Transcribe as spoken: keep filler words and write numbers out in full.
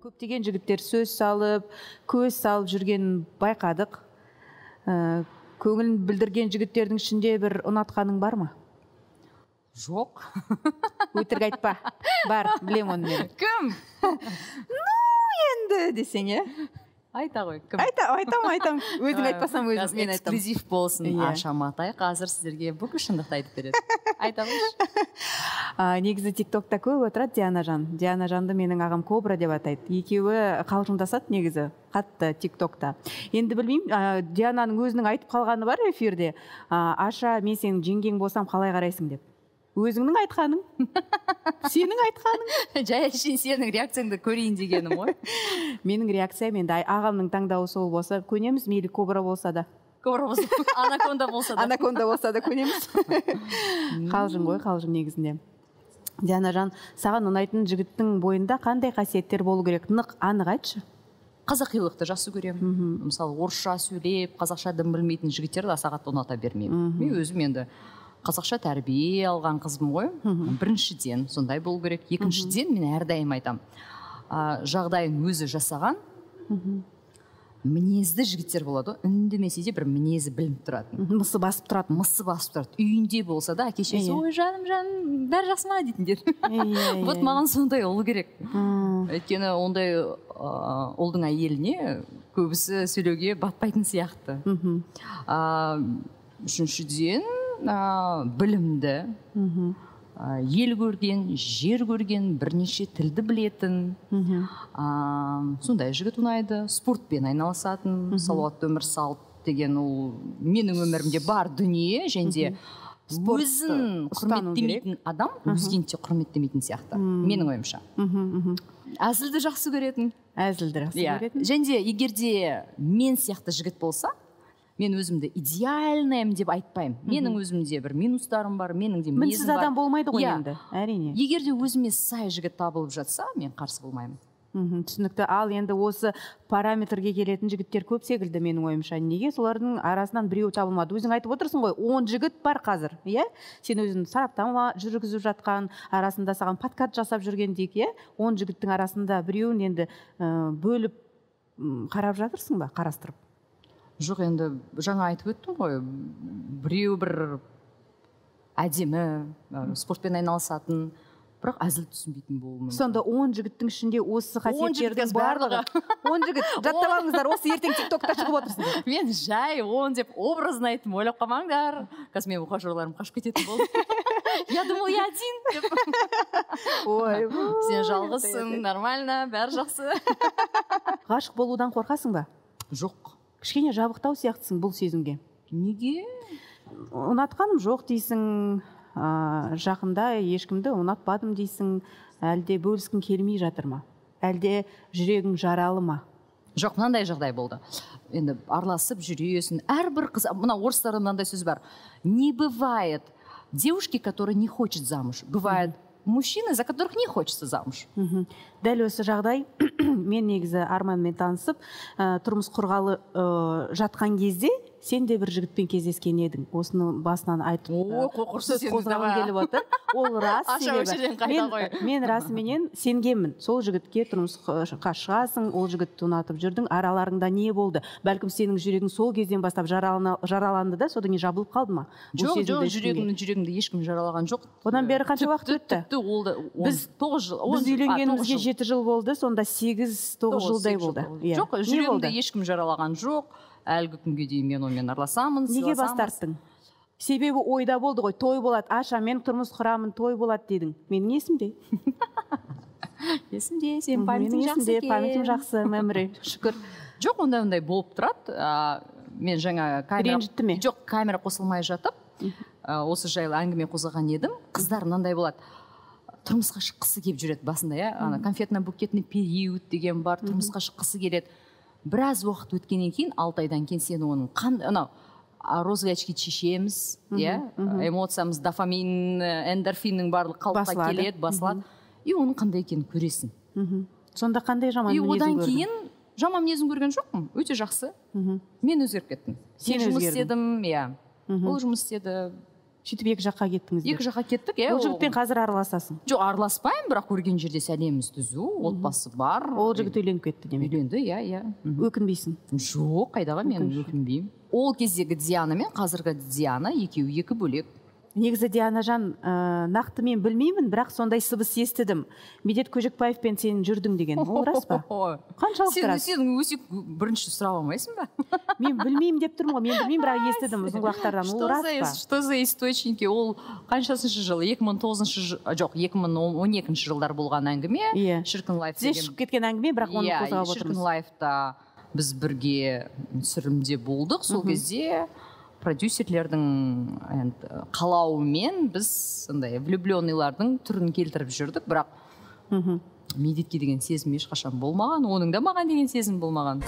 Көптеген жігіттер сөз салып, көз салып жүргенін байқадық. Көңілін білдірген жігіттердің ішінде бір ұнатқаның бар ма? Жоқ. Өтірік айтпа. Бар, білем оны мен. Кім? Ну, енді десең, е? Айта ғой, кім? Айтам, айтам, айтам. Өзің айтпасам өзім мен айтам. Эксклюзив болсын. Аша Матай қазір сіздерге бүкіл шындықты айтып береді. Айта қойшы. Негізі тиктокта көп отырады Диана Жан. Диана Жанды менің ағам Кобра деп атайды. Екеуі қалжыңдасады негізі қатты тиктокта. Енді білмеймін, Диананың өзінің айтып қалғаны бар эфирде. Аша, мен сенің жеңгең болсам қалай қарайсың деп. Өзіңнің айтқаның, сенің айтқаның. Жай әшейін сенің реакцияңды көрейін дегенім ғой. Менің реакциям енді ағамның таңдауы сол болса, көнеміз, мейлі Кобра болса да. Кобра болса, анаконда болса да. Анаконда болса да көнеміз. Қалжың ғой, қалжың негізінде. Диана Жан, саған ұнайтын жігіттің бойында қандай қасиеттер болу керек? Нық, анық айтшы. Қазақилықты жақсы көремін. Мысалы, орысша сөйлеп, қазақша дым білмейтін жігіттерді аса қатты ұната бермеймін. Мен өзім енді қазақша тәрбие алған қызбым ғой. Біріншіден сондай болу керек. Екіншіден мен әрдайым айтам, жағдайын өзі жасаған мінезді жігіттер болады. Үндемесе де бір мінезі білініп тұратын. Мысы басып тұрады. Мысы басып тұрады. Үйінде болса да әке-шешесі, ой жаным, жаным, бәрі жақсы ма дейтіндер. Вот маған сондай ұл керек. Өйткені ондай ұлдың әйеліне көбісі сөйлеуге батпайтын сияқты. Үшіншіден білімді, ел көрген, жер көрген, бірнеше тілді білетін, сондай жігіт ұнайды. Спортпен айналысатын, салауатты өмір салт деген ол менің өмірімде бар дүние, және өзін құрметтемейтін адам өзгені де құрметтемейтін сияқты, менің ойымша. Әзілді жақсы көретін. Әзілді жақсы көретін. Және егерде мен сияқты жігіт болса, мен өзімді идеальныйым деп айтпаймын. Менің өзімде бір минустарым бар, менің де мінсіз адам болмайды ғой енді, әрине. Егерде өзіме сай жігіт табылып жатса, мен қарсы болмаймын. Түсінікті. Ал енді осы параметрге келетін жігіттер көп секілді менің ойымша. Неге солардың арасынан біреу табылмады? Өзің айтып отырсың ғой, он жігіт бар қазір, иә? Сен өзің сараптама жүргізіп жатқан, арасында саған подкаст жасап жүрген дейік, иә? он жігіттің арасында біреуін енді бөліп қарап жатырсың ба, қарастырып? Жоқ, енді жаңа айтып өттім ғой, біреу бір әдемі, спортпен айналысатын, бірақ әзіл түсінбейтін болуы мүмкін. Сонда он жігіттің ішінде осы қасиеттердің барлығы. он жігіт, жаттап алыңыздар, осы ертең тиктокта шығып отырсыңдар. Мен жай он деп образын айттым, ойлап қалмаңдар. Қазір мен ухажерларым қашып кететін болды. Я думал, я один деп. Ой, сен жалғызсың, нормально, бәрі жақсы. Ғашық болудан қорқасың ба? Жоқ. Кішкене жабықтау сияқтысың бұл сезімге. Неге? Ұнатқаным жоқ дейсің, жақында ешкімді ұнатпадым дейсің, әлде бөліскің келмей жатыр ма? Әлде жүрегің жаралы ма? Жоқ, мынандай жағдай болды. Енді араласып жүресің. Әрбір қыз, мына орыстарда мынандай сөз бар. Не бывает девушки, которые не хочет замуж. Бывает мужчины, за которых не хочется замуж. Дәл осы жағдай, мен негізі Арманмен танысып, тұрмыс құрғалы жатқан кезде, сен де бір жігітпен кездескен едің. Осыны басынан айтып, сөз қозғағым келіп отыр. Ол рас себебі. Мен расыменен сенгенмін. Сол жігітке тұрмысқа шығасың, ол жігітті ұнатып жүрдің. Араларыңда не болды? Бәлкім сенің жүрегің сол кезден бастап жараланды да, содан кейін жабылып қалды ма? Жоқ, жоқ, жүрегімді ешкім жаралаған жоқ. Одан бері қанша уақыт өтті? Біз үйленгенімізге жеті жыл болды, сонда сегіз тоғыз жылдай болды. Жоқ, жүрегімді ешкім жаралаған жоқ. Әлгі күнге дейін мен онымен араласамын. Неге бас тарттың? Себебі ойда болды ғой, той болады. Аша, мен тұрмыс құрамын, той болады дедің. Менің есімде. Есімде, сен памятың жақсы екен. Памятың жақсы, мәмірі, шүкір. Жоқ, ондай-ондай болып тұрады. Мен жаңа жоқ, камера қосылмай жатып, осы жайлы әңгіме қозғаған едім. Қыздар мынандай болады. Тұрмысқа шыққысы келіп жүреді басында, конфетно-букетный период деген бар, тұрмысқа шыққысы келеді. Біраз уақыт өткеннен кейін, алты айдан кейін сені оның анау розовый очки шешеміз, эмоциямыз, дофамин, эндорфиннің барлық қалыпқа келеді, басылады. И оның қандай екенін көресің. Сонда қандай жаман мінезін көрдің? И одан кейін жаман мінезін көрген жоқпын, өте жақсы. Мен өзгеріп кеттім. Сен жұмыс істедім, иә. Ол жұмыс істеді. сөйтіп екі жаққа кеттіңіздер? Екі жаққа кеттік, иә. Ол жігітпен қазір араласасың? Жоқ, араласпаймын, бірақ көрген жерде сәлеміміз түзу, отбасы бар. Ол жігіт үйленіп кетті демек? Үйленді, иә, иә. Өкінбейсің? Жоқ, қайдағы, мен өкінбеймін. Ол кездегі Диана мен қазіргі Диана екеуі екі бөлек. Негізі Дианажан, ә, нақты мен білмеймін, бірақ сондай сыбыс естідім. Медет Көжекбаевпен сен жүрдің деген. Ол рас па? Қаншалықты рас? Сен өсек бірінші сұрап алмайсың ба? Мен білмеймін деп тұрмын ғой. Мен білмеймін, бірақ естідім ұзын құлақтардан. Ол рас па? Что за источники? Ол қаншасыншы жылы? екі мың тоғызыншы жоқ, екі мың он екінші жылдар болған әңгіме. Шіркін лайф деген. Тізе шығып кеткен әңгіме, бірақ оны қозғап отырмыз. Шіркін лайфта біз бірге түсірілімде болдық. Сол кезде продюсерлердің қалауымен біз влюбленныйлардың түрін келтіріп жүрдік, бірақ Медетке деген сезім ешқашан болмаған, оның да маған деген сезім болмаған.